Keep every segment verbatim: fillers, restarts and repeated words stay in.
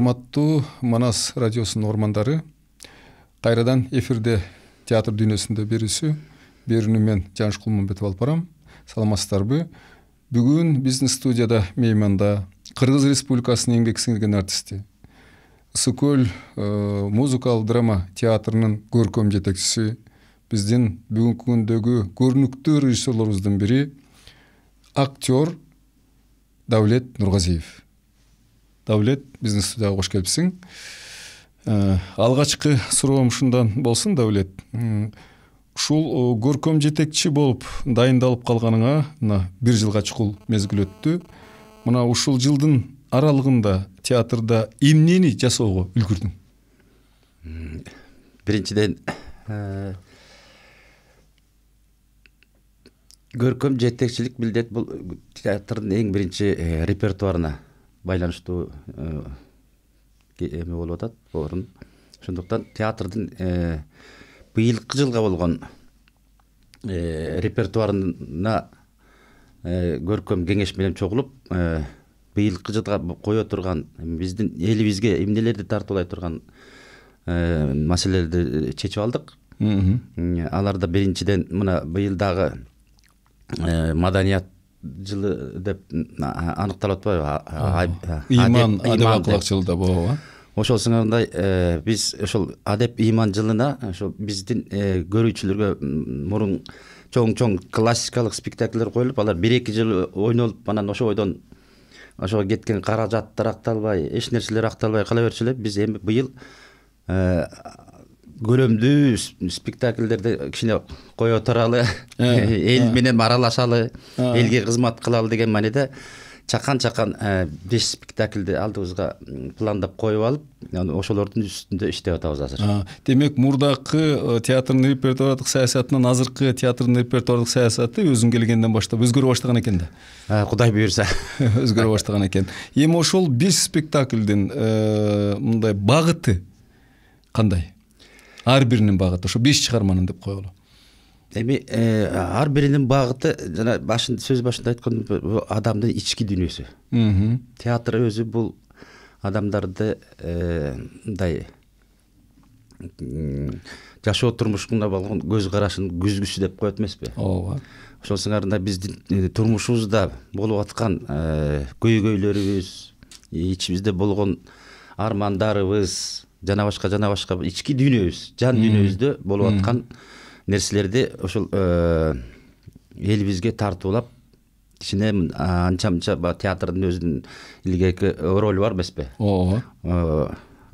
Урматтуу Манас радиосунун угармандары, кайрадан эфирде театр дүйнөсүндө берүүсү берүүнү мен Жаныш Кулмамбетов алып барам. Саламатсыздарбы? Бүгүн биздин студияда мейманда Кыргыз Республикасынын эмгек сиңирген артисти, Ысык көл музыкалык драма театрынын көркөм жетекчиси, биздин бүгүнкү күндөгү көрүнүктүү режиссерлорубуздун бири актер Давлет Нургазиев. Давлет, биздин студияга кош келипсиң. Алгачкы суроом ушундан болсун, Давлет. Ушул көркөм жетекчи болуп дайындалып калганыңа мына бир жылга чукул мезгил өттү. Мына ушул жылдын аралыгында театрда эмнени жасоого үлгүрдүң? Биринчиден көркөм жетекчилик билдет бул театрдын эң биринчи репертуарына байланыштуу эме болуп атат, орун. Ошондуктан театрдын быйылкы жылга болгон репертуарына көркөм кеңеш менен чогулуп, быйылкы жылга кое турган биздин элибизге эмнелерди тартуулай турган маселелерди чечип алдык. Аларда биринчиден мына быйыл дагы маданият жылы деп аныкталып атпайбы? Ыйман адеп жылда болобу? Ошол сыңарындай биз ошол адеп ыйман жылына ошол биздин көрүүчүлөргө мурун чоң-чоң классикалык спектакльдер коюлуп, алар бир-эки жыл ойнолуп, анан ошо бойдон ошого кеткен каражаттар акталбай, эч нерселер акталбай кала берчү эле. Биз эми быйыл көлөмдүү спектакльдерди кичине кое туралы, эл менен аралашалы, элге кызмат кылалы деген мааниде чакан-чакан беш спектакльди алдыбызга пландап коюп алып, ошолордун үстүндө иштеп атабыз азыр. Демек, мурдакы театрдын репертуардык саясатынан азыркы театрдын репертуардык саясаты өзүң келгенден баштап өзгөрө баштаган экен да. Кудай буйрса. Өзгөрө баштаган экен. Эми ошол беш спектакльдин мындай багыты кандай? Ар биринин багыты, ошо беш чыгарманын деп коелу. Эми ар биринин багыты жана башында сөз башында айткан адамдын ички дүйнөсү. Театр өзү бул адамдарды мындай жашоо турмушуна болгон көз карашын күзгүсү деп коет эмеспи? Ооба. Ошол сыңарында биздин турмушубузда болуп аткан көйгөйлөрүбүз, ичибизде болгон армандарыбыз, жана башка жана башка ички дүйнөбүз, жан дүйнөбүздө болуп аткан нерселерди ошол элибизге тартуулап, кичине анча-мынча театрдын өзүнүн илгерки ролу бар эмеспи? Ооба.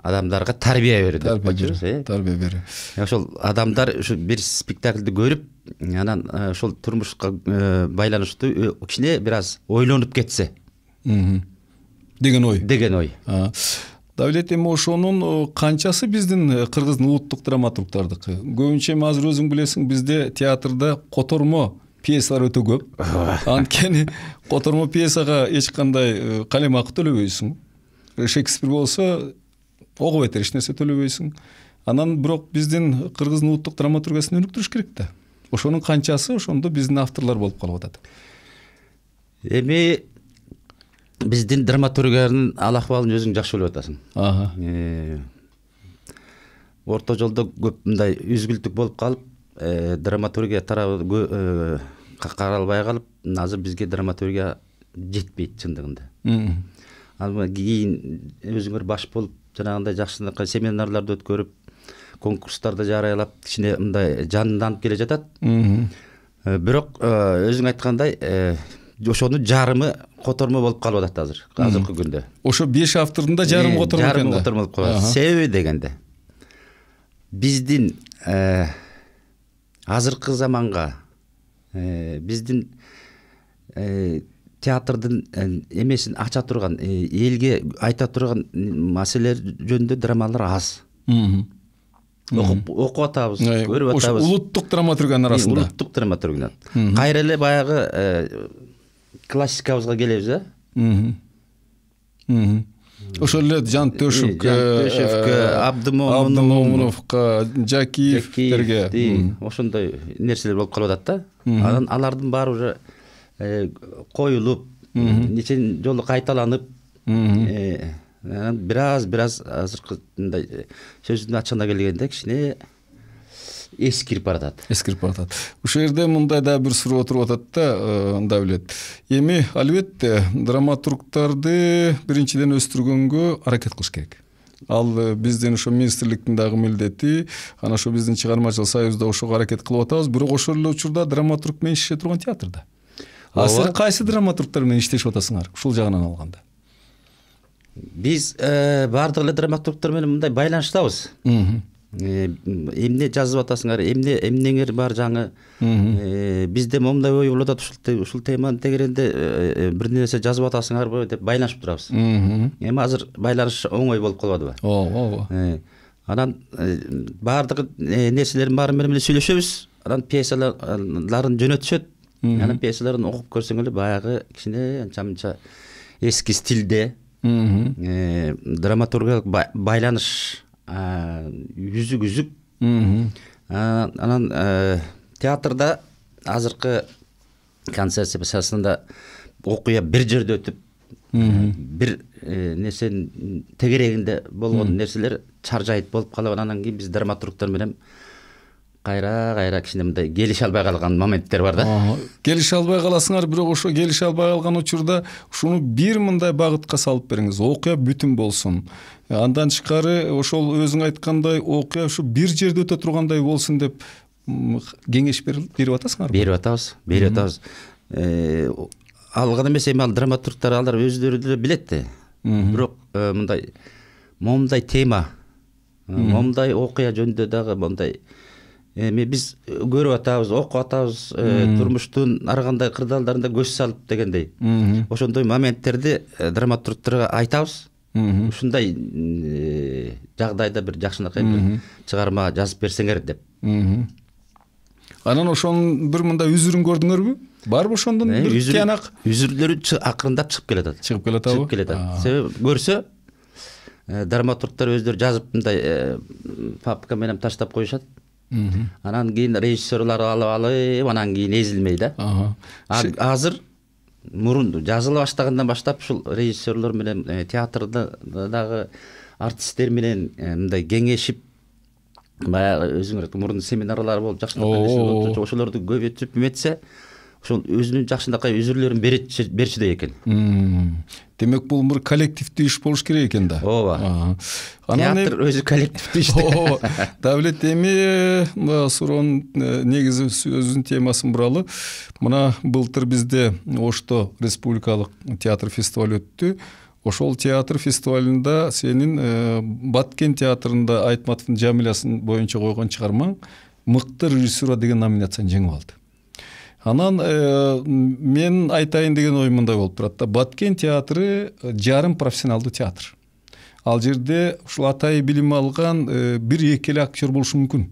Адамдарга тарбия берүү деп коечубуз, э? Тарбия берүү. Ошол адамдар ушу бир спектакльди көрүп, анан ошол турмушка байланыштуу кичине бир аз ойлонуп кетсе деген ой. Деген ой. Давлет, эми ошонун канчасы биздин кыргыздын улуттук драматургтардыкы? Көбүнчө эми азыр өзүң билесиң, бизде театрда котормо пьесалар өтө көп. Анткени котормо пьесага эч кандай калем акы төлөбөйсүң. Шекспир болсо ого бетер эч нерсе төлөбөйсүң. Анан бирок биздин кыргыздын улуттук драматургиясын өнүктүрүш керек да. Ошонун канчасы ошондо биздин авторлор болуп калып атат. Эми биздин драматургиянын ал акыбалын өзүң жакшы билип атасың. Орто жолдо көп мындай үзгүлтүк болуп калып, драматургия тарабы каралбай калып, азыр бизге драматургия жетпейт чындыгында. Ал кийин өзүңөр баш болуп, жанагындай жакшынакай семинарларды өткөрүп, конкурстарды жарыялап, кичине мындай жанданып келе жатат. Бирок өзүң айткандай, ошонун жарымы котормо болуп калып атат азыр, азыркы күндө. Ошо беш автордун да жарымы котормо экен да. Жарымы котормо болуп калат. Себеби дегенде биздин азыркы заманга биздин театрдын эмесин ача турган, элге айта турган маселелер жөнүндө драмалар аз. Окуп атабыз, көрүп атабыз. Улуттук драматургиянын арасында. Улуттук драматургиянын. Кайра эле баягы классикабызга келебиз, э? Ошол эле Жан Төшевкө, Абдымомуновго, Жакиевтерге ошондой нерселер болуп калып атат да. Анан алардын баары уже коюлуп, нече жолу кайталанып, бир аз бир аз азыркы мындай сөздүн ачыгына келгенде кичине эскирип баратат эскирип баратат ушул жерде мындай да бир суроо туруп атат да Давлет. Эми албетте драматургдарды биринчиден өстүргөнгө аракет кылыш керек. Ал биздин ошо министрликтин дагы милдети, анан ошо биздин чыгармачылык союзда ошого аракет кылып атабыз. Бирок ошол эле учурда драматург менен иштеше турган театрда. А силер кайсы драматургдар менен иштешип атасыңар ушул жагынан алганда? Биз баардык эле драматургдар менен мындай байланыштабыз. Эмне жазып атасыңар, эмне эмнеңер бар жаңы. Бизде момундай ой болуп атат, ушул ушул теманын тегеренде бир нерсе жазып атасыңарбы деп байланышып турабыз. Эми азыр байланыш оңой болуп калбадыбы? Ооба. Анан баардык нерселердин баары менен сүйлөшөбүз. Анан пьесаларын жөнөтүшөт. Анан пьесаларын окуп көрсөң эле баягы кичине анча-мынча эски стилде драматургиялык байланыш үзүк үзүк. Анан театрда азыркы концепциясында окуя бир жерде өтүп, бир нерсенин тегерегинде болгон нерселер чаржайыт болуп калып, анан кийин биз драматургдар менен кайра кайра кичине мындай келише албай калган моменттер бар да. Келише албай каласыңар, бирок ошо келише албай калган учурда ушуну бир мындай багытка салып бериңиз. Окуя бүтүн болсун. Андан тышкары ошол өзүң айткандай окуя ушу бир жерде өтө тургандай болсун деп кеңеш берип атасыңарбы? Берип атабыз, берип атабыз. Ал гана эмес, эми ал драматургдар алар өздөрү деле билет да. Бирок мындай момундай тема, момундай окуя жөнүндө дагы мындай эми биз көрүп атабыз, окуп атабыз, турмуштун ар кандай кырдаалдарында көз салып дегендей. Ошондой моменттерди драматургдарга айтабыз. Ушундай жагдайда бир жакшынакай бир чыгарма жазып берсеңер деп. Анан ошонун бир мындай үзүрүн көрдүңөрбү? Барбы ошондон бир тыянак? Үзүрлөрү акырындап чыгып келатат. Чыгып келатабы? Чыгып келатат. Себеби көрсө драматургдар өздөрү жазып мындай папка менен таштап коюшат. Анан кийин режиссерлар алып алып, анан кийин эзилмей да. Азыр мурун жазыла баштагандан баштап ушул режиссерлор менен театрда дагы артисттер менен мындай кеңешип, баягы өзүңөр мурун семинарлар болуп жакшынакай ошолорду көбөйтүп эметсе, ошол өзүнүн жакшынакай үзүрлөрүн берчүдөй экен. Демек бул бир коллективдүү иш болуш керек экен да. Ооба. Театр өзү коллективдүү иш. Ооба. Давлет, эми суроонун негизи өзүнүн темасын буралы. Мына былтыр бизде Ошто республикалык театр фестивали өттү. Ошол театр фестивалында сенин Баткен театрында Айтматовдун Жамилясын боюнча койгон чыгармаң мыкты режиссура деген номинацияны жеңип алды. Анан мен айтайын деген ой мындай болуп турат да. Баткен театры жарым профессионалдуу театр. Ал жерде ушул атайы билим алган бир эки эле актер болушу мүмкүн.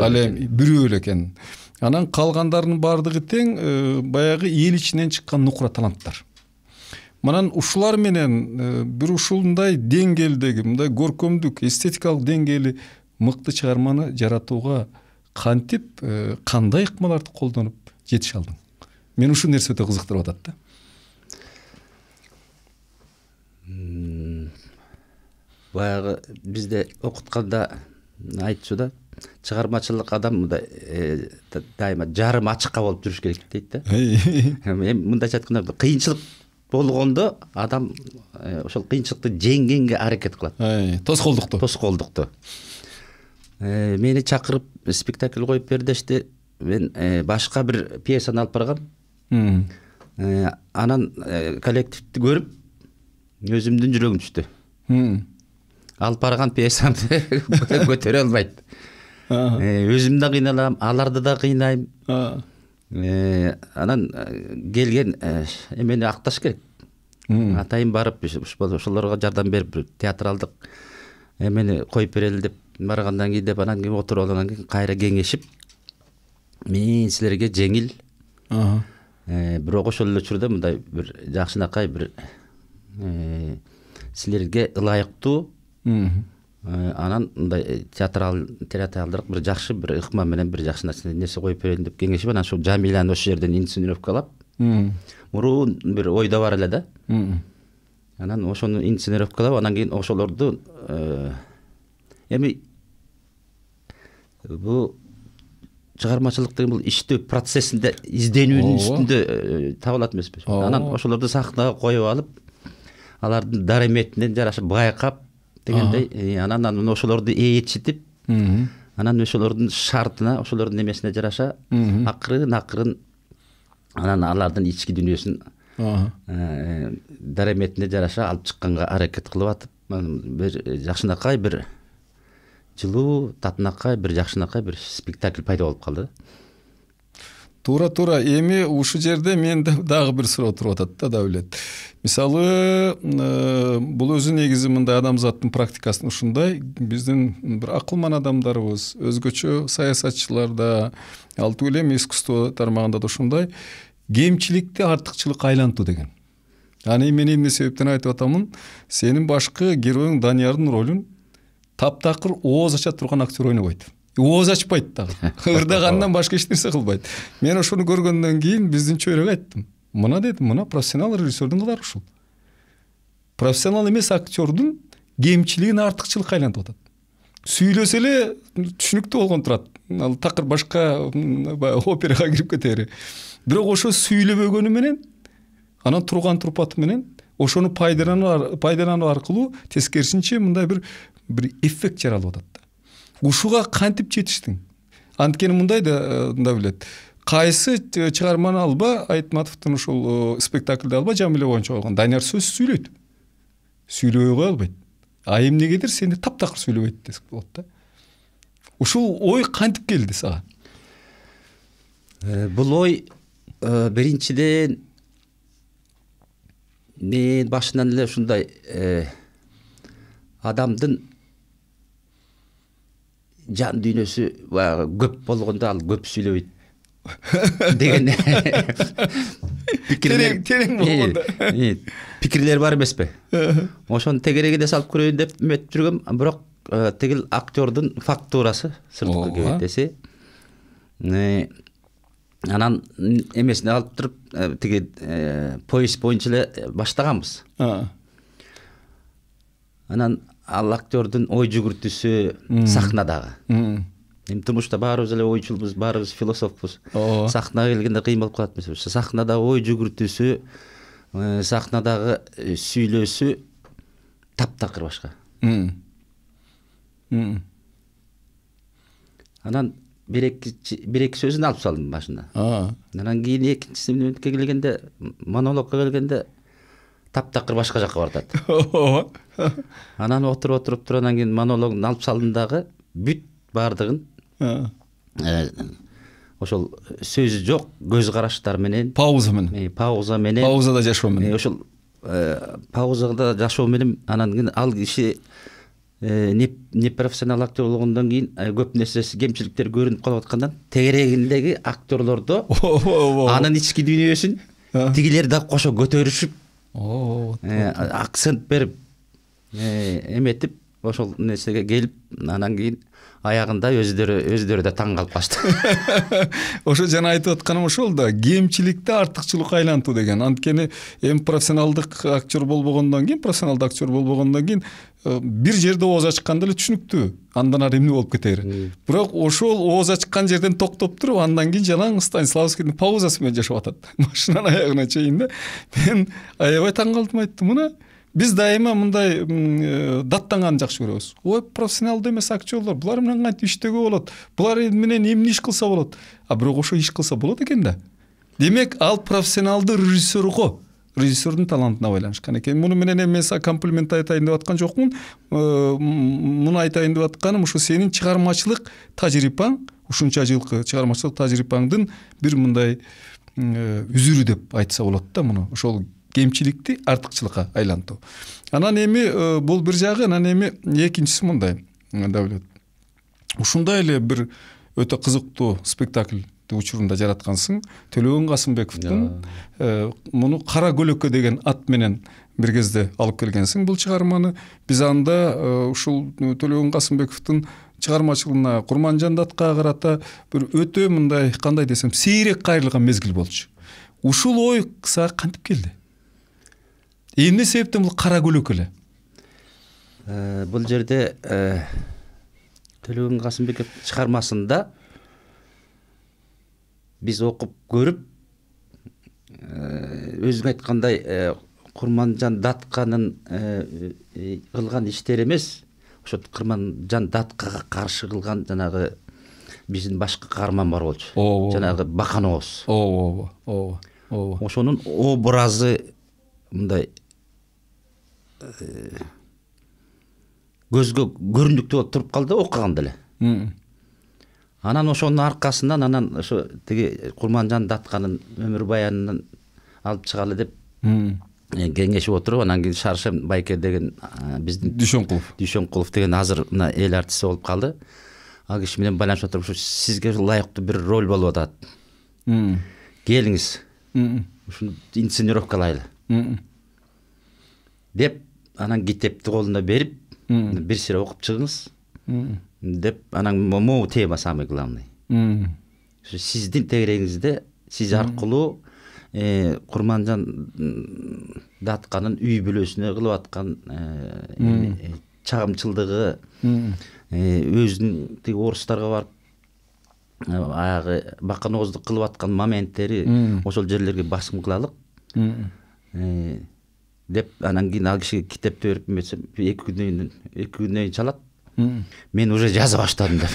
Ал эми бирөө эле экен. Анан калгандарынын баардыгы тең баягы эл ичинен чыккан нукура таланттар. Манан ушулар менен бир ушундай деңгээлдеги, мындай көркөмдүк, эстетикалык деңгээли мыкты чыгарманы жаратууга кантип, кандай ыкмаларды колдонуп жетише алдың? Мен ушул нерсе өтө кызыктырып атат да. Баягы бизде окутканда айтчу да, чыгармачылык адам мындай дайыма жарым ачыкка болуп жүрүш керек дейт да. Эми мындайча айтканда кыйынчылык болгондо адам ошол кыйынчылыкты жеңгенге аракет кылат. Тоскоолдукту. Тоскоолдукту. Мени чакырып спектакль коюп бер дешти. Мен башка бир пьесаны алып баргам. Анан коллективди көрүп өзүмдүн жүрөгүм түштү. Алып барган пьесамды көтөрө албайт. Өзүм да кыйналам, аларды да кыйнайм. Анан келген эмени акташ керек. Атайын барып ошолорго жардам берип театралдык эмени коюп берели деп баргандан кийин деп анан кийин отуруп алгандан кийин кайра кеңешип, мен силерге жеңил, бирок ошол эле учурда мындай бир жакшынакай бир силерге ылайыктуу, анан мындай театрал театралдык бир жакшы бир ыкма менен бир жакшы нерсе коюп берейин деп кеңешип, анан ошол Жамиляны ошол жерден инсценировкалап, мурун бир ойдо бар эле да. анан ошону инсценировкалап, анан кийин ошолорду эми бул чыгармачылык деген бул иштөө процессинде, изденүүнүн үстүндө табылат эмеспи? Анан ошолорду сахнага коюп алып, алардын дареметине жараша байкап дегендей, анан анан ошолорду ээрчитип, анан ошолордун шартына, ошолордун эмесине жараша акырын акырын анан алардын ички дүйнөсүн дареметине жараша алып чыкканга аракет кылып атып, бир жакшынакай, бир жылуу, татынакай, бир жакшынакай бир спектакль пайда болуп калды. Туура туура. Эми ушул жерде менде дагы бир суроо туруп атат да, Давлет. Мисалы, бул өзү негизи мындай адамзаттын практикасында ушундай, биздин бир акылман адамдарыбыз, өзгөчө саясатчыларда, ал түгүл эми искусство тармагында да ушундай кемчиликти артыкчылыкка айлантуу деген. Аны мен эмне себептен айтып атамын? Сенин башкы героюң Даниярдын ролун таптакыр ооз ача турган актер ойнобойт. Ооз ачпайт дагы. Ырдагандан башка эч нерсе кылбайт. Мен ошону көргөндөн кийин биздин чөйрөгө айттым. Мына дедим, мына профессионал режиссердун кылары ушул. Профессионал эмес актердун кемчилигин артыкчылыкка айлантып атат. Сүйлөсө эле түшүнүктүү болгон турат. Ал такыр башка операга кирип кетери. Бирок ошо сүйлөбөгөнү менен, анан турган турпаты менен ошону пайдалануу пайдалануу аркылуу тескерисинче мындай бир бир эффект жаралып атат. Ушуга кантип жетиштиң? Анткени мындай да билет. Кайсы чыгарманы алба, Айтматовдун ушул спектакльде алба, Жамиле боюнча койгон. Данияр сөз сүйлөйт. Сүйлөбөй кое албайт. А эмнегедир сенде таптакыр сүйлөбөйт десек болот да. Ушул ой кантип келди сага? Бул ой биринчиден мен башынан эле ушундай адамдын жан дүйнөсү көп болгондо ал көп сүйлөбөйт деген пикирлер терең болгондо пикирлер бар эмеспи? Ошону тегерегине салып көрөйүн деп эметип жүргөм, бирок тигил актердун фактурасы сырткы келет десе, анан эмесине алып туруп тиги поезд боюнча эле баштаганбыз. Анан ал актердун ой жүгүртүүсү сахнадагы. Эми турмушта баарыбыз эле ойчулбуз, баарыбыз философпуз. Сахнага келгенде кыйын болуп калат эмеспи? Сахнадагы ой жүгүртүүсү, сахнадагы сүйлөөсү таптакыр башка. Анан бир эки сөзүн алып салдым башында. Анан кийин экинчисине келгенде, монологко келгенде таптакыр башка жакка бардат. Анан отуруп отуруп туруп анан кийин монологун алып салдым дагы, бүт бардыгын ошол сөзү жок көз караштар менен, пауза менен, пауза менен, паузада жашоо менен, ошол паузада жашоо менен, анан кийин ал киши не профессионал актер болгондон кийин көп нерсеси, кемчиликтер көрүнүп калып аткандан тегерегиндеги актерлордо анын ички дүйнөсүн тигилер да кошо көтөрүшүп, акцент берип, эметип, ошол нерсеге келип, анан кийин аягында өздөрү өздөрү да таң калып калышты. Ошо жана айтып атканым ошол да, кемчиликти артыкчылыкка айлантуу деген. Анткени эми профессионалдык актер болбогондон кийин, профессионалдык актер болбогондон кийин бир жерде ооз ачканда эле түшүнүктүү. Андан ары эмне болуп кетери. Бирок ошол ооз ачкан жерден токтоп туруп, андан кийин жанаң Станиславскийдин паузасы менен жашап атат. Башынан аягына чейин да. Мен аябай таң калдым, айттым, мына биз дайыма мындай даттанганды жакшы көрөбүз. Ой, профессионалдуу эмес актерлор, булар менен кантип иштөөгө болот? Булар менен эмне иш кылса болот? А бирок ошо иш кылса болот экен да. Демек, ал профессионалдуу режиссер го, режиссердун талантына байланышкан экен. Муну менен эми мен комплимент айтайын деп аткан жокмун. Муну айтайын деп атканым ушу сенин чыгармачылык тажрыйбаң, ушунча жылкы чыгармачылык тажрыйбаңдын бир мындай үзүрү деп айтса болот да, муну. Ошол кемчиликти артыкчылыкка айлантуу. Анан эми бул бир жагы, анан эми экинчиси мындай, Давлет. Ушундай эле бир өтө кызыктуу спектакль учурунда жараткансың. Төлөгөн Касымбековдун муну Кара көлөккө деген ат менен бир кезде алып келгенсиң бул чыгарманы. Биз анда ушул Төлөгөн Касымбековдун чыгармачылыгына, Курманжан Датка карата бир өтө мындай, кандай десем, сейрек кайрылган мезгил болчу. Ушул ой сага кантип келди? эмне себептен бул кара көлөк эле? Бул жерде Төлөгөн Касымбеков чыгармасында биз окуп көрүп, өзүң айткандай Курманжан Датканын кылган иштери эмес, ошо Курманжан Даткага каршы кылган жанагы биздин башка каарман бар болчу. Жанагы Бакан Ооз. Ооба, ооба, ооба. Ошонун образы мындай көзгө көрүндүктүү болуп туруп калды окуганда эле. Анан ошонун аркасынан анан ошо тиги Курманжан Датканын өмүр баянынан алып чыгалы деп кеңешип отуруп, анан кийин Шаршем Байке деген биздин Дүйшөнкулов Дүйшөнкулов деген азыр мына эл артисти болуп калды. Ал киши менен байланышып отуруп, ушу сизге ылайыктуу бир роль болуп атат. Келиңиз. Ушуну инсценировкалайлы. Деп анан китепти колуна берип, бир сире окуп чыгыңыз деп, анан могу тема самый главный. Сиздин тегерегиңизде сиз аркылуу Курманжан Датканын үй бүлөсүнө кылып аткан чагымчылдыгы, өзүнүн тиги орустарга барып аягы Бакан Оозду кылып аткан моменттери ошол жерлерге басым кылалык деп, анан кийин ал кишиге китепти берип, эки күндөн эки күндөн чалат. Мен уже жаза баштадым деп.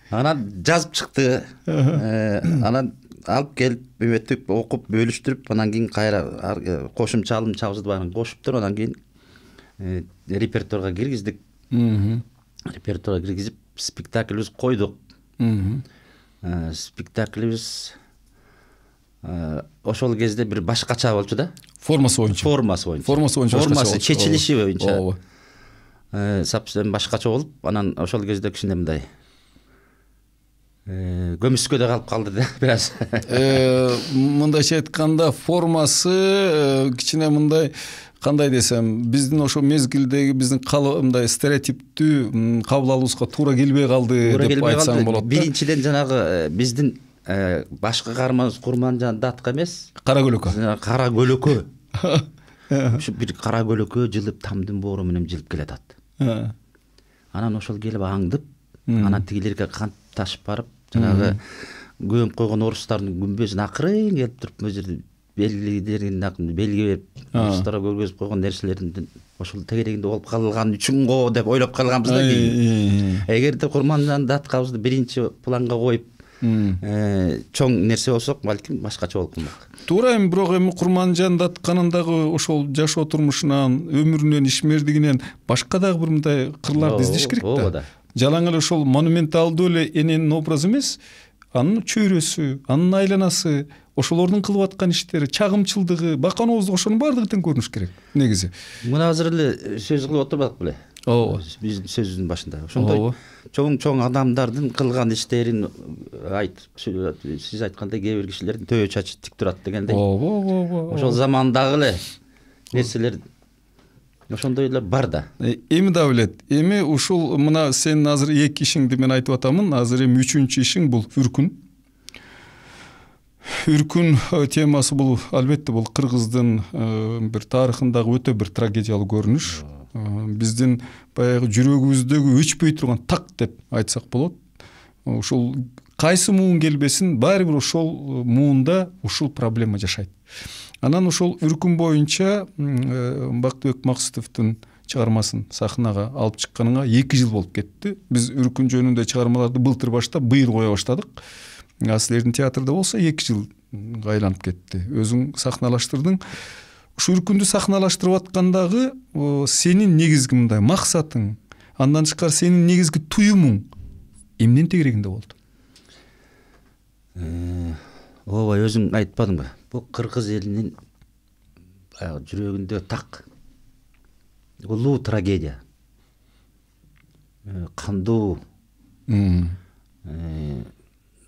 Анан жазып чыкты. Анан алып келип, эметип, окуп, бөлүштүрүп, анан кийин кайра кошумча алым чабызды баарын кошуптур, анан кийин репертуарга киргиздик. Репертуарга киргизип, спектакльбиз койдук. Спектакльбиз ошол кезде бир башкача болчу да. Формасы боюнча. Формасы боюнча. Формасы боюнча. Формасы чечилиши боюнча. Совсем башкача болуп, анан ошол кезде кичине мындай көмүскөдө калып калды да бир аз. Мындайча айтканда, формасы кичине мындай, кандай десем, биздин ошо мезгилдеги биздин мындай стереотиптүү кабыл алуубузга туура келбей калды деп айтсаң болот. Биринчиден жанагы биздин башкы каарманыбыз Курманжан Датка эмес, кара көлөкө. Кара көлөкө. Ушу бир кара көлөкө жылып, тамдын боору менен жылып келатат. Анан ошол келип аңдып, анан тигилерге кантип ташып барып, жанагы көмүп койгон орустардын күмбөзүн акырын келип туруп, бул жерде белгилерин белги берип, орустарга көргөзүп койгон нерселердин ошол тегерегинде болуп калган үчүн го деп ойлоп калганбыз да кийин. Эгерде Курманжан Даткабызды биринчи планга коюп чоң нерсе болсок, балким башкача болуп калмак. Туура, эми бирок эми Курманжан Датканын дагы ошол жашоо турмушунан, өмүрүнөн, ишмердигинен башка дагы бир мындай кырларды издеш керек да. Жалаң эле ошол монументалдуу эле эненин образы эмес, анын чөйрөсү, анын айланасы, ошолордун кылып аткан иштери, чагымчылдыгы, Бакан Оозду ошонун баардыгы тең көрүнүш керек негизи. Мына азыр эле сөз кылып отурбадык беле? Ооба. Биздин сөзүбүздүн башында. Ошондой чоң-чоң адамдардын кылган иштерин айт, сиз айткандай кээ бир кишилердин төбө чачы тик турат дегендей. Ооба, ооба. Ошол замандагы эле нерселер ошондой эле бар да. Эми да билет. Эми ушул мына сен азыр эки ишиңди мен айтып атамын. Азыр эми үчүнчү ишиң бул Үркүн. Үркүн темасы бул албетте бул кыргыздын бир тарыхындагы өтө бир трагедиялуу көрүнүш. Биздин баягы жүрөгүбүздөгү өчпөй турган так деп айтсак болот. Ушул кайсы муун келбесин, баары бир ошол муунда ушул проблема жашайт. Анан ошол Үркүн боюнча Бактыбек Максутовдун чыгармасын сахнага алып чыкканыңа эки жыл болуп кетти. Биз Үркүн жөнүндө чыгармаларды былтыр баштап, быйыл кое баштадык. Силердин театрда болсо эки жылга айланып кетти. Өзүң сахналаштырдың. Ушу Үркүндү сахналаштырып аткандагы сенин негизги мындай максатың, андан тышкары сенин негизги туюмуң эмнен тегерегинде болду? Ооба, өзүң айтпадыңбы? Бул кыргыз элинин жүрөгүндө так улуу трагедия, кандуу,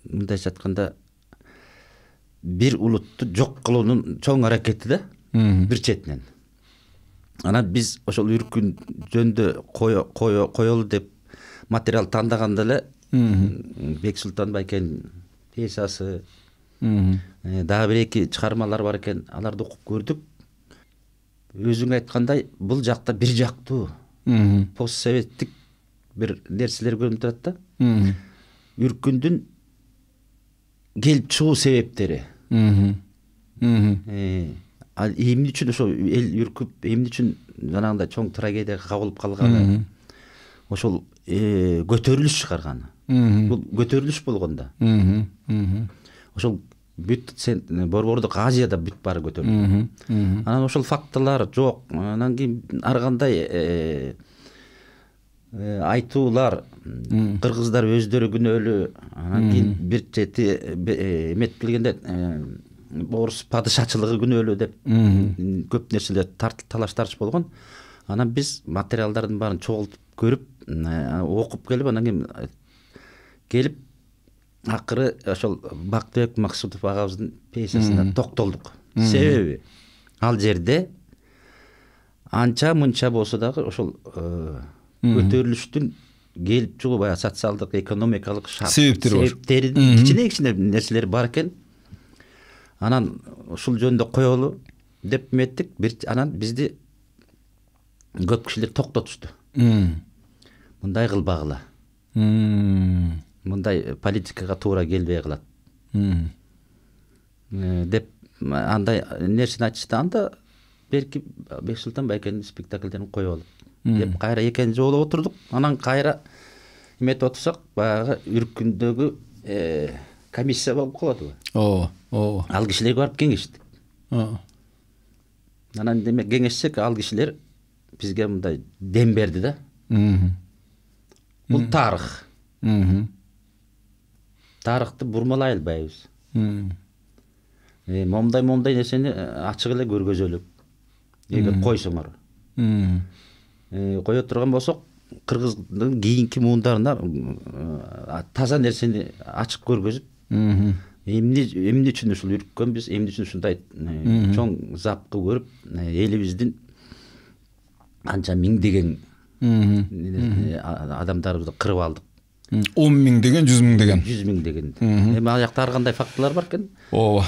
мындайча айтканда бир улутту жок кылуунун чоң аракети да, бир четинен. Анан биз ошол Үркүн жөнүндө коелу деп материал тандаганда эле Бексултан Байкенин пьесасы, Дагы бир эки чыгармалар бар экен, аларды окуп көрдүк. Өзүң айткандай, бул жакта бир жактуу постсоветтик бир нерселер көрүнүп турат да. Үркүндүн келип чыгуу себептери. Ал эмне үчүн ошо эл үркүп, эмне үчүн жанагындай чоң трагедияга кабылып калганы, ошол көтөрүлүш чыгарганы. Бул көтөрүлүш болгон да. Ошол бүт сен Борбордук Азияда бүт баары көтөрүлдү. Анан ошол фактылар жок. Анан кийин ар кандай айтуулар, кыргыздар өздөрү күнөөлүү. Анан кийин бир чети эметип келгенде орус падышачылыгы күнөөлүү деп көп нерселер талаш тартыш болгон. Анан биз материалдардын баарын чогултуп көрүп, окуп келип, анан кийин келип акыры ошол Бактыбек Максутов агабыздын пьесасына токтолдук. Себеби ал жерде анча мынча болсо дагы ошол көтөрүлүштүн келип чыгуу баягы социалдык, экономикалык себептери, кичине-кичине нерселер бар экен. Анан ушул жөнүндө коелу деп эметтик. Анан бизди көп кишилер токтотушту. Мындай кылбагыла. Мындай политикага туура келбей калат. Деп андай нерсени айтышты. Анда берки Бексултан Байкенин спектакльдерин коелу деп кайра экинчи жолу отурдук. Анан кайра эметип отурсак, баягы Үркүндөгү комиссия болуп калат. Ооба, ооба. Ал кишилерге барып кеңештик. Анан демек кеңешсек, ал кишилер бизге мындай дем берди да. Бул тарых. Тарыхты бурмалай албайбыз. Момдай-момдай нерсени ачык эле көргөзөлүк. Эгер койсоңор. Кое турган болсок, кыргыздын кийинки муундарына таза нерсени ачык көргөзүп, эмне эмне үчүн ушул үрккөнбүз, эмне үчүн ушундай чоң запкы көрүп, элибиздин анча миңдеген адамдарыбызды кырып алдык. он миң деген, жүз миң деген. жүз миң деген. Эми ал жакта ар кандай фактылар бар экен. Ооба.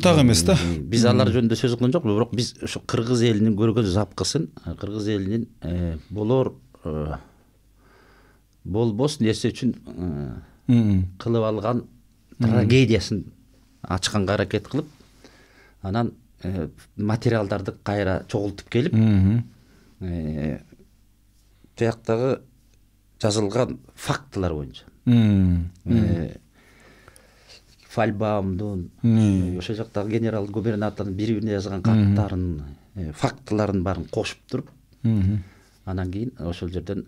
Так эмес да. Биз алар жөнүндө сөз кылган жокпуз, бирок биз ушу кыргыз элинин көргөн запкысын, кыргыз элинин болор болбос нерсе үчүн кылып алган трагедиясын ачканга аракет кылып, анан материалдарды кайра чогултуп келип, тияктагы жазылган фактылар боюнча. Фальбаумдун, ошол жактагы генерал губернатордун бири-бирине жазган каттарын, фактыларын баарын кошуп туруп, анан кийин ошол жерден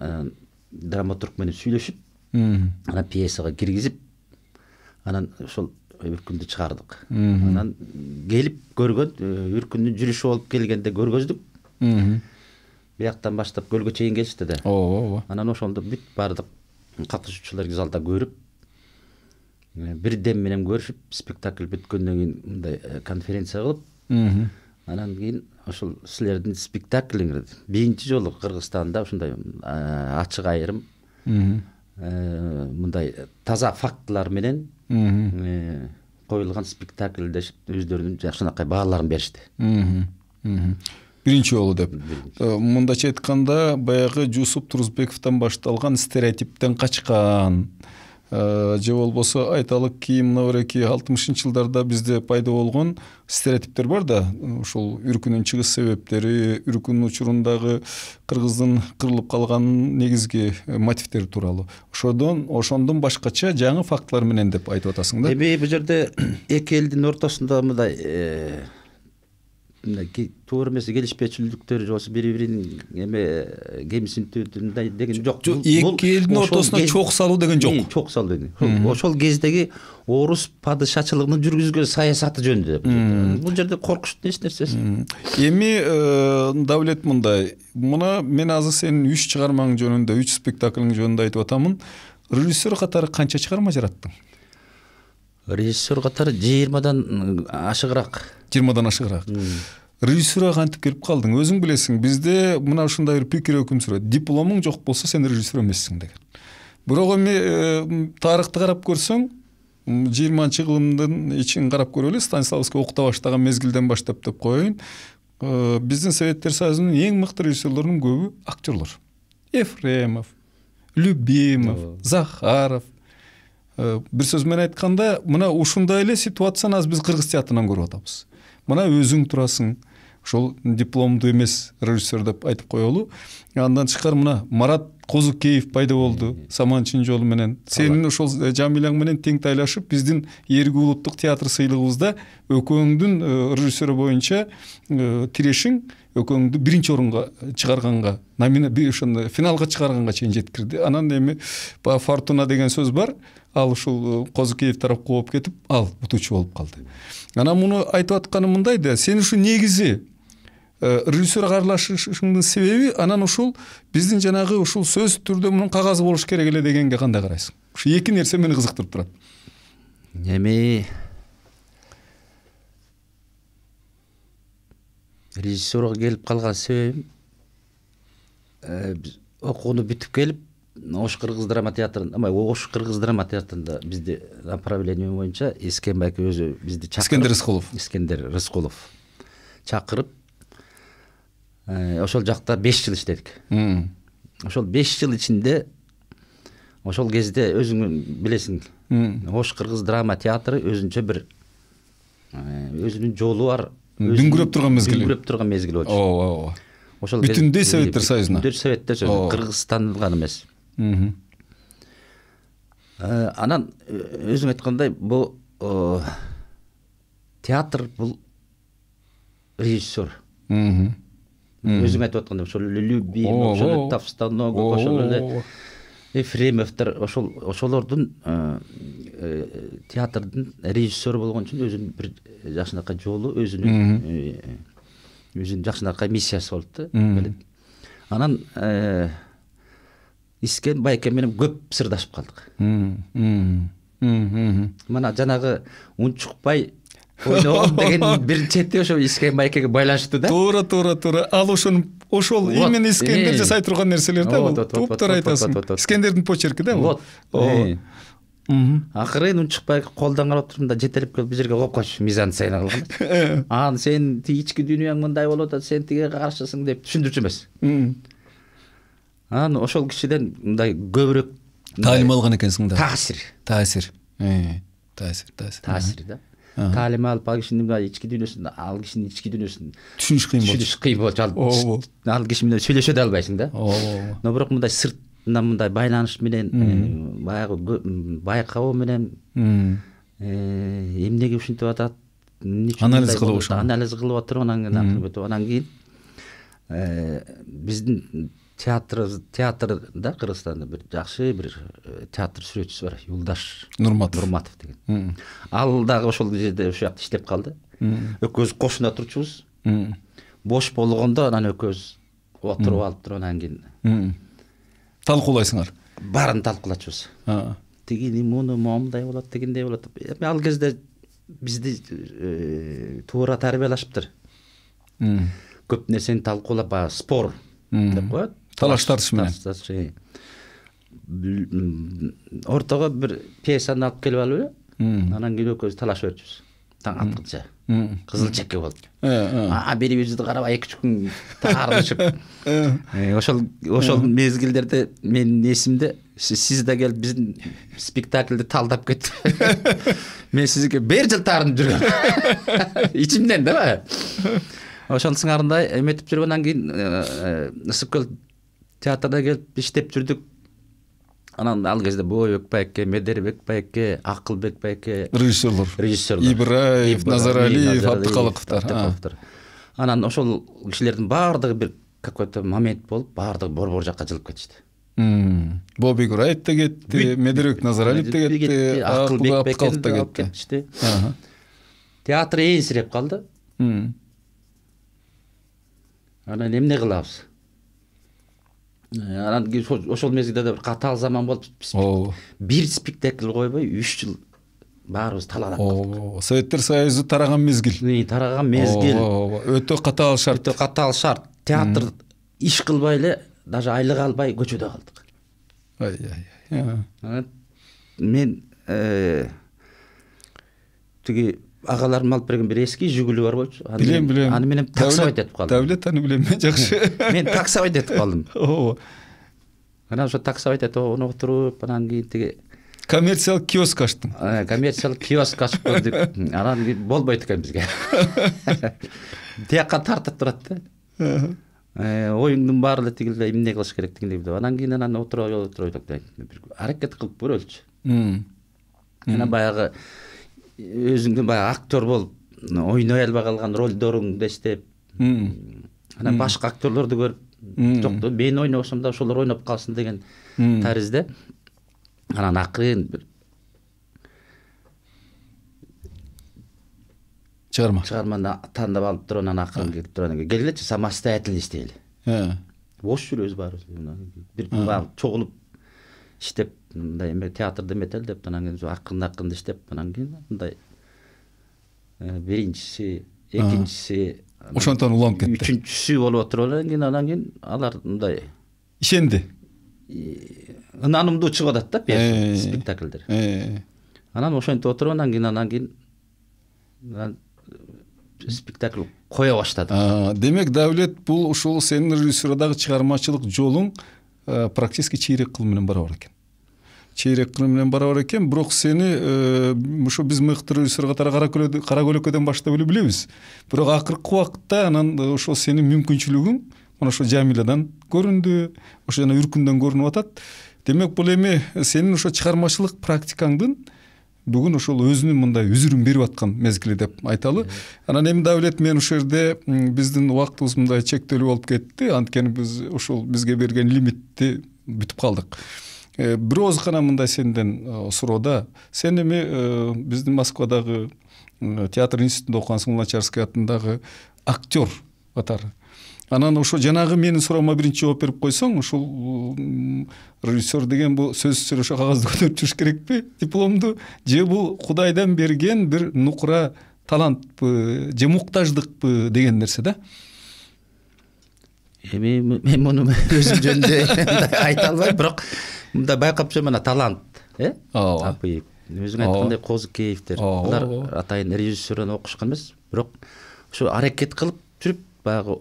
драматург менен сүйлөшүп, анан пьесага киргизип, анан ошол Үркүндү чыгардык. Анан келип көргөн, Үркүндүн жүрүшү болуп келгенде көргөздүк. Бияктан баштап көлгө чейин келишти да. Ооба. Анан ошондо бүт бардык катышуучулар залда көрүп, бир дем менен көрүшүп, спектакль бүткөндөн кийин мындай конференция кылып, анан кийин ошол силердин спектаклиңер биринчи жолу Кыргызстанда ушундай ачык айрым, мындай таза фактылар менен коюлган спектакль деп өздөрүнүн жакшынакай бааларын беришти. Биринчи жолу деп. Мындача айтканда, баягы Жусуп Турузбековдон башталган стереотиптен качкан, же болбосо айталык ки мынабеки алтымышынчы жылдарда бизде пайда болгон стереотиптер бар да, ушул үркүнүн чыгыш себептери, үркүнүн учурундагы кыргыздын кырылып калган негизги мотивтери тууралуу. Ошодон ошондон башкача жаңы фактылар менен деп айтып атасың да. Эми бул жерде эки элдин ортосунда мындай туура эмес келишпечиликтер же болбосо бири-биринин эме кемсинтүүдүндай деген жок. Эки элдин ортосуна чок салуу деген жок. Чок салуу деген. Ошол кездеги орус падышачылыгынын жүргүзгөн саясаты жөнүндө. Бул жерде коркунучтуу эч нерсеси. Эми Давлет мындай, мына мен азыр сенин үч чыгармаң жөнүндө, үч спектакльң жөнүндө айтып атамын. Режиссер катары канча чыгарма жараттың? Режиссер катары жыйырмадан ашыгыраак. жыйырмадан ашыгыраак. Режиссурга кантип келип калдың? Өзүң билесиң, бизде мына ушундай бир пикир өкүм сүрөт. Дипломуң жок болсо сен режиссер эмессиң деген. Бирок эми тарыхты карап көрсөң, жыйырманчы кылымдын ичин карап көрөлү. Станиславский окута баштаган мезгилден баштап деп коеюн. Биздин Советтер Союзунун эң мыкты режиссерлорунун көбү актерлор. Ефремов, Любимов, Захаров. Бир сөз менен айтканда, мына ушундай эле ситуацияны аз биз кыргыз театрынан көрүп атабыз. Мына өзүң турасың, ошол дипломдуу эмес режиссер деп айтып коелу. Андан тышкары мына Марат Козукеев пайда болду Саманчын жолу менен. Сенин ошол Жамилаң менен тең тайлашып, биздин Эрги улуттук театр сыйлыгыбызда экөөңдүн режиссеры боюнча тирешиң экөөңдү биринчи орунга чыгарганга, ошондо финалга чыгарганга чейин жеткирди. Анан эми Фортуна деген сөз бар. Ал ушул Козукеев тарапка болуп кетип, ал утуучу болуп калды. Анан муну айтып атканым мындай да, сен ушу негизи режиссерга аралашышыңдын себеби анан ушул биздин жанагы ушул сөз түрдө мунун кагазы болуш керек эле дегенге кандай карайсың? Ушу эки нерсе мени кызыктырып турат. Эми режиссерга келип калган себебим биз окууну бүтүп келип Ош кыргыз драма театрында, ама Ош кыргыз драма театрында бизди направление боюнча Эскенбай байке өзү бизди чакырып, Искендер Рыскулов. Искендер Рыскулов чакырып, ошол жакта беш жыл иштедик. Ошол беш жыл ичинде ошол кезде өзүң билесиң, Ош кыргыз драма театры өзүнчө бир өзүнүн жолу бар, дүңгүрөп турган мезгил. Дүңгүрөп турган мезгил болчу. Ооба. Ошол бүтүндөй Советтер Союзуна. Бүтүндөй Советтер Союзуна, Кыргызстан гана эмес. Анан өзүң айткандай, бул театр бул режиссер. Өзүң айтып аткандай, ошол Любимов, ошол Товстоногов, ошол эле Ефремовдор, ошол ошолордун театрдын режиссеру болгон үчүн өзүнүн бир жакшынакай жолу, өзүнүн өзүнүн жакшынакай миссиясы болуп да. Анан Искен байке менен көп сырдашып калдык. Мына жанагы унчукпай ойногон деген бир чети ошо Искен байкеге байланыштуу да. Туура, туура, туура. Ал ошону ошол именно Искендер жасай турган нерселер да бул. Туптар айтасың. Искендердин почерки да бул. Акырын унчукпай колдон карап турдум да, жетелеп келип бул жерге коюп койчу, мизансцена кылган. Анан сен тиги ички дүйнөң мындай болуп атат, сен тиге каршысың деп түшүндүрчү эмес. Анан ошол кишиден мындай көбүрөөк таалим алган экенсиң да. Таасир. Таасир. Таасир, таасир. Таасир да. Таалим алып, ал кишинин ички дүйнөсүн, ал кишинин ички дүйнөсүн түшүнүш кыйын болчу. Түшүнүш кыйын болчу. Ал киши менен сүйлөшө да албайсың да. Но бирок мындай сыртынан мындай байланыш менен, баягы байкабоо менен эмнеге ушинтип атат, анализ кылып ошо. Анализ кылып отуруп, анан кийин биздин театр театрда Кыргызстанда бир жакшы бир театр сүрөтчүсү бар, Юлдаш Нурматов Нурматов деген. Ал дагы ошол жерде ошол жакта иштеп калды. Экөөбүз кошуна турчубуз. Бош болгондо анан экөөбүз отуруп алып туруп анан кийин талкуулайсыңар. Баарын талкуулачубуз. Тигини муну момундай болот, тигиндей болот. Эми ал кезде бизди туура тарбиялашыптыр. Көп нерсени талкуулап, спор деп коет. Талаш тартыш менен. Ортого бир пьесаны алып келип алып эле, анан кийин экөөбүз талашып берчүбүз. Таң аткыча. Кызыл чекке болду. А бирибизди карабай эки үч күн таарынышып. Ошол ошол мезгилдерде менин эсимде, сиз да келип биздин спектакльди талдап кетти. Мен сизге бир жыл таарынып жүргөм. Ичимден да. Ошол сыңарындай эметип жүрүп, анан кийин Ысык көл театрда келип иштеп жүрдүк. Анан ал кезде Боойбек байке, Медербек байке, Акылбек байке режиссерлор. Режиссерлор. Ибраев, Назаралиев, Абдыкалыковдор. Анан ошол кишилердин баардыгы бир какой-то момент болуп, баардыгы борбор жакка жылып кетишти. Боойбек Ибраев да кетти, Медербек Назаралиев да кетти, Акылбек байке да кетишти. Театр эйинсирип калды. Анан эмне кылабыз? Анан ошол мезгилде бир катаал заман болуп, бир спектакль койбой үч жыл баарыбыз талаадап калдык. Советтер Союзу тараган мезгил. Тараган мезгил. Өтө катаал шарт. Өтө катаал шарт. Театр иш кылбай эле, даже айлык албай көчөдө калдык. Ай-ай. Мен тиги агаларым алып берген бир эски жигули бар болчу. Билем, билем. Аны менен таксовать этип калдым. Давлет аны билем мен жакшы. Мен таксовать этип калдым. Ооба. Анан ошо таксовать этип отуруп, анан кийин тиги коммерциялык киоск ачтым. Коммерциялык киоск ачып көрдүк. Анан болбойт экен бизге. Тияка тартып турат да. Оюңдун баары эле тигил эмне кылыш керектигин билип. Анан кийин анан отуруп отуруп бир аракет кылып көрөлчү. Анан баягы өзүңдүн баягы актер болуп ойной албай калган ролдоруңду эстеп, анан башка актерлорду көрүп, жок, мен ойнобосом да ошолор ойноп калсын деген таризде. Анан акырын бир чыгарма чыгарманы тандап алып туруп, анан акырын кетип туруп, келгилечи самостоятельно иштейли. Бош жүрөбүз баарыбыз. Бир баягы чогулуп иштеп, мындай эме театрда эметел деп, анан кийин акырын-акырын иштеп, анан кийин мындай биринчиси, экинчиси, ошонтон уланып кетти. Үчүнчүсү болуп отуруп, анан кийин анан кийин алар мындай ишенди. Ынанымдуу чыгып атат да спектакльдер. Анан ошентип отуруп, анан кийин анан кийин спектакль кое баштадым. Демек, Давлет, бул ушул сенин режиссурадагы чыгармачылык жолуң практически чейрек кыл менен барабар экен. Чейрек кыл менен барабар экен, бирок сени ушу биз мыкты режиссер катары Кара Көлөкөдөн баштап эле билебиз. Бирок акыркы убакытта анан ошо сенин мүмкүнчүлүгүң мына ошо Жамиладан көрүндү, ошо жана Үркүндөн көрүнүп атат. Демек, бул эми сенин ошо чыгармачылык практикаңдын бүгүн ошол өзүнүн мындай үзүрүн берип аткан мезгили деп айталы. Анан эми Давлет, мен ошол жерде биздин убактыбыз мындай чектелүү болуп кетти, анткени биз ошол бизге берген лимитти бүтүп калдык. Бир ооз гана мындай сенден суроода, сен эми биздин Москвадагы театр институтунда окугансың, Луначарский атындагы актер катары. Анан ошо жанагы менин суроома биринчи жооп берип койсоң, ушул режиссер деген бул сөзсүз ошо кагазды көтөрүп жүрүш керекпи, дипломду, же бул Кудайдан берген бир нукура талантпы, же муктаждыкпы деген нерсе да? Эми мен муну өзүм жөнүндө айта албайм, бирок мындай байкап жүрөм, мына талант, э? Ооба. Өзүң айткандай Козыкеевдер, булар атайын режиссерден окушкан эмес, бирок ошо аракет кылып жүрүп баягы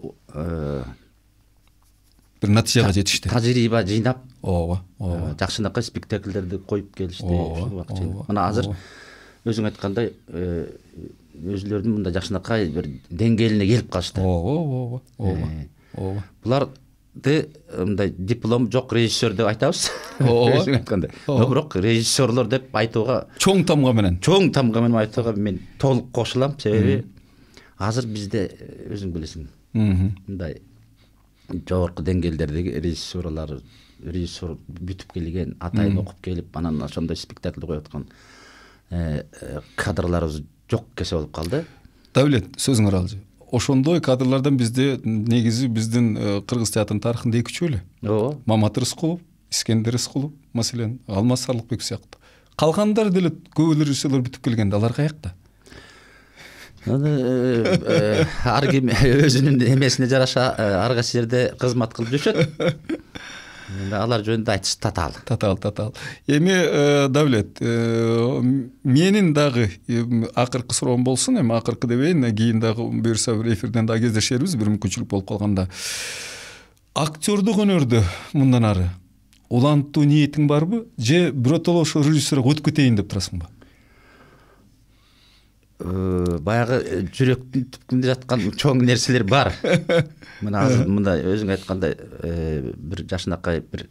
бир натыйжага жетишти. Тажрыйба жыйнап, ооба, ооба, жакшынакай спектакльдерди коюп келишти. Мына азыр өзүң айткандай өзүлөрүнүн мындай жакшынакай бир деңгээлине келип калышты. Ооба, ооба, ооба. Буларды мындай диплом жок режиссер деп айтабыз. Өзүң айткандай. Бирок режиссерлор деп айтууга чоң тамга менен, чоң тамга менен айтууга мен толук кошулам, себеби азыр бизде өзүң билесиң, мындай жогорку деңгээлдердеги режиссерлар, режиссер бүтүп келген, атайын окуп келип, анан ошондой спектакль коюп аткан кадрларыбыз жок кесе болуп калды. Давлет, сөзүңөр алчы. Ошондой кадрлардан бизде негизи биздин кыргыз театрынын тарыхында эки-үчөө эле. Ооба. Мамат Рыскулов, Искендер Рыскулов, маселен, Алмаз Сарлыкбек сыяктуу. Калгандар деле көп эле режиссерлор бүтүп келгенде, алар каякта? Ар ким өзүнүн эмесине жараша ар кайсы жерде кызмат кылып жүрүшөт. Алар жөнүндө айтыш татаал. Татаал, татаал. Эми Давлет, менин дагы акыркы суроом болсун, эми акыркы дебейин, кийин дагы буюрса бир эфирден дагы кездешербиз, бир мүмкүнчүлүк болуп калганда. Актёрдук өнөрдө мындан ары улантуу ниетиң барбы, же биротоло ошо режиссерге өтүп кетейин деп турасыңбы? Баягы жүрөктүн түпкүндө жаткан чоң нерселер бар. Мына азыр мындай өзүң айткандай бир жашынакай бир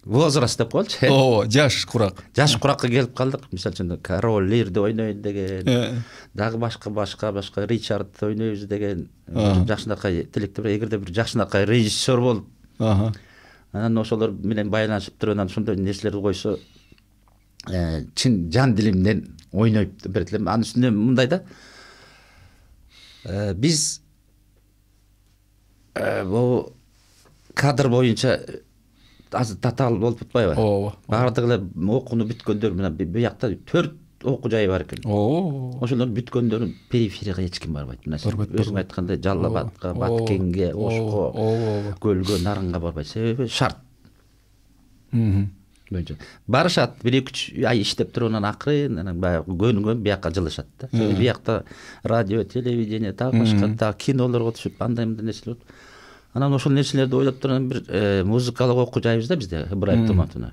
возраст деп коелучу. Ооба, жаш курак. Жаш куракка келип калдык. Мисалы үчүн Король Лирди ойнойн деген, дагы башка башка башка Ричард ойнойбуз деген жакшынакай тилектер. Эгерде бир жакшынакай режиссер болуп, анан ошолор менен байланышып туруп, анан ошондой нерселерди койсо, чын жан дилимден ойноп берет элем. Анын үстүнө мындай да, биз бул кадр боюнча азыр татаал болуп атпайбы? Ооба. Баардыгы эле окууну бүткөндөр мына буякта төрт окуу жайы бар экен. Ооба. Ошолордун бүткөндөрүн периферияга эч ким барбайт. Мына өзүң айткандай Жалал Абадка, Баткенге, Ошко, Көлгө, Нарынга барбайт. Себеби шарт. боюнча барышат, бир эки үч ай иштеп туруп анан акырын анан баягы көнүгөн бияка жылышат да. Биякта радио, телевидение, дагы башка дагы кинолорго түшүп, андай мындай нерселер болуп. Анан ошол нерселерди ойлоп турган бир музыкалык окуу жайбыз да бизде Ыбраев Туматовна.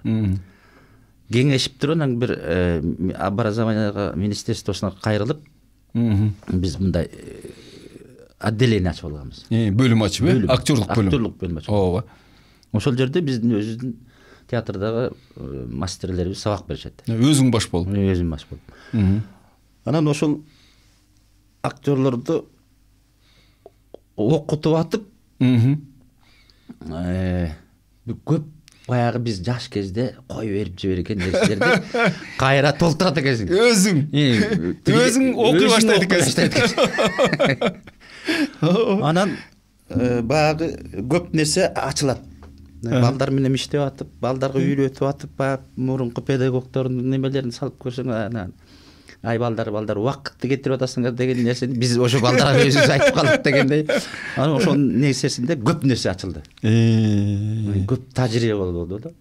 Кеңешип туруп анан бир образованияга министерствосуна кайрылып, биз мындай отделение ачып алганбыз. Бөлүм ачып, э? Актерлук бөлүм. Актерлук бөлүм ачып. Ооба. Ошол жерде биздин өзүбүздүн театрдагы мастерлерибиз сабак беришет. Өзүң баш болуп. Өзүм баш болуп. Анан ошол актерлорду окутуп атып, көп баягы биз жаш кезде кой берип жиберген нерселерди кайра толтурат экенсиң. Өзүң. Өзүң окуй баштайт экенсиң. Анан баягы көп нерсе ачылат. Балдар менен иштеп атып, балдарга үйрөтүп атып, баягы мурунку педагогдордун немелерин салып көрсөң, анан ай балдар, балдар убакытты кетирип атасыңар деген нерсени биз ошо балдарга өзүбүз айтып калдык дегендей. Анан ошол нерсесинде көп нерсе ачылды. Көп тажрыйба болду да.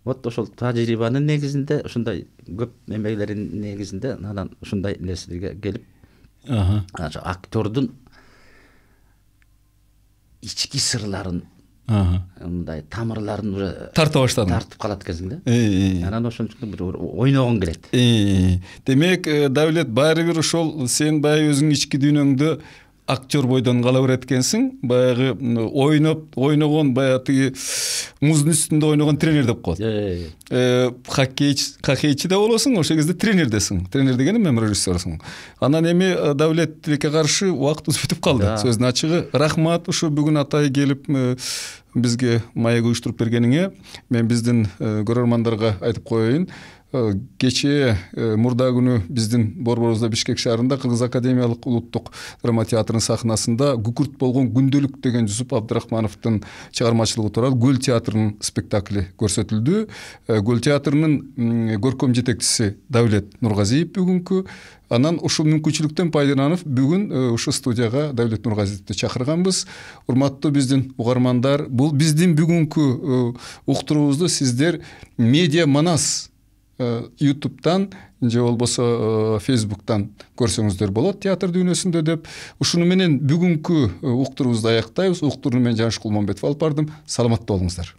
Вот ошол тажрыйбанын негизинде, ушундай көп эмелердин негизинде анан ушундай нерселерге келип, актердун ички сырларын, мындай тамырларын уже тарта баштадым. Тартып калат экенсиң да. Анан ошон үчүн бир ойногон келет. Демек, Давлет, баары бир ошол сен баягы өзүң ички дүйнөңдө актер бойдон кала берет экенсиң. Баягы ойноп, ойногон, баягы тиги муздун үстүндө ойногон тренер деп коет. Хоккейчи, хоккейчи да болосуң, ошол кезде тренердесиң. Тренер деген эми режиссерсуң. Анан эми Давлет тилекке каршы убактыбыз бүтүп калды. Сөздүн ачыгы, рахмат ушу бүгүн атай келип бизге маек уюштуруп бергениңе. Мен биздин көрөрмандарга айтып коеюн. Кечээ мурда күнү биздин борборубузда Бишкек шаарында Кыргыз академиялык улуттук драма театрынын сахнасында Күкүрт болгон күндөлүк деген Жусуп Абдрахмановдун чыгармачылыгы турар Гөл театрынын спектакли көрсөтүлдү. Гөл театрынын көркөм жетекчиси Давлет Нургазиев бүгүнкү. Анан ушул мүмкүнчүлүктөн пайдаланып бүгүн ушу студияга Давлет Нургазиевди чакырганбыз. Урматтуу биздин угармандар, бул биздин бүгүнкү уктуруубузду сиздер Медиа Манас ютубтан же болбосо фейсбуктан көрсөңүздөр болот театр дүйнөсүндө деп. Ушуну менен бүгүнкү уктуруубузду аяктайбыз. Уктурууну мен Жаныш Кулманбетов алып бардым. Саламатта болуңуздар.